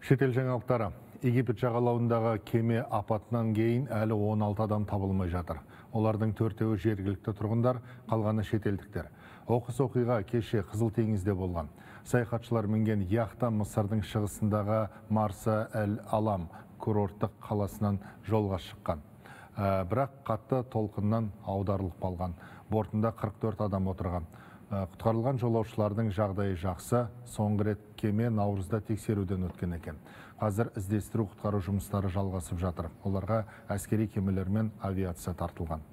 Шетел жаңалықтары. Египет жағалауындағы кеме апатынан кейін әлі 16 адам табылмай жатыр. Олардың 4-еуі жергілікті тұрғындар, қалғаны шетелдіктер. Оқыс оқиға кеше Қызыл теңізде болған. Саяхатшылар мінген яхта Мысырдың шығысындағы Марса Әл-Алам курорттық қаласынан жолға шыққан. Бірақ қатты толқыннан аударылып қалған. Бортында 44 адам отырған. Құтқарылған жолаушылардың жағдайы жақсы. Соңғы рет кеме наурызда тексеруден өткен екен. Қазір іздестіру құтқару жұмыстары жалғасып жатыр. Оларға әскери кемелер мен авиация тартылған.